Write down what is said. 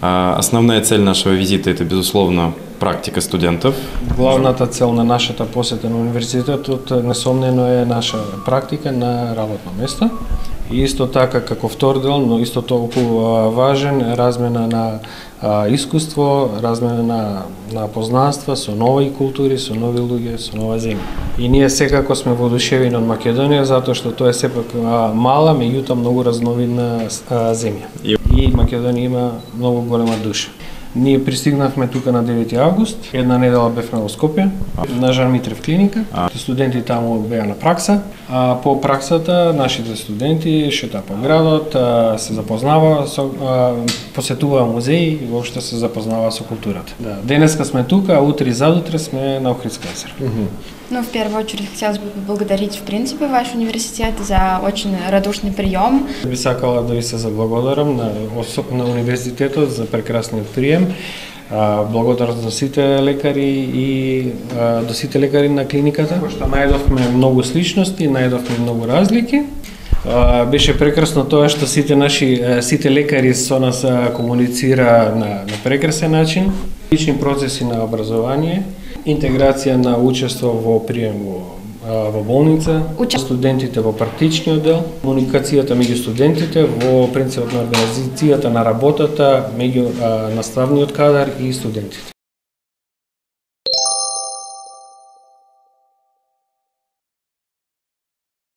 Основная цель нашего визита – это, безусловно, практика студентов. Главната цел на нашата посета на универзитетот несомнено е наша практика на работно место. И исто така како втор дел, но исто толку важен, размена на искуство, размена на познанства со нови култури, со нови луѓе, со нова земја. И ние секако сме воодушевени од Македонија затоа што тоа е сепак мала, меѓутоа многу разновидна земја. И Македонија има многу голема душа. Ние пристигнавме тука на 9 август, една недела бевме во Скопје, на Жан Митрев клиника. Студенти таму беа на пракса, а по праксата нашите студенти шетаа по градот, се запознаваа со посетуваа музеи и воопшто се запознаваа со културата. Да, денеска сме тука, а утре и задутре сме на Охридско езеро. Ну, в первую очередь, хотелось бы поблагодарить, в принципе, ваш университет за очень радушный прием. Би сакала да ви се заблагодарам на универзитетот за прекрасниот прием. Благодарност до сите лекари и до сите лекари на клиниката, што најдовме многу сличности, најдовме многу разлики. Беше прекрасно тоа што сите лекари со нас комуницира на прекрасен начин. Лични процеси на образование, интеграција на учество во прием во болница, студентите во практичниот дел, комуникацијата меѓу студентите во принципот на организацијата на работата меѓу наставниот кадар и студентите.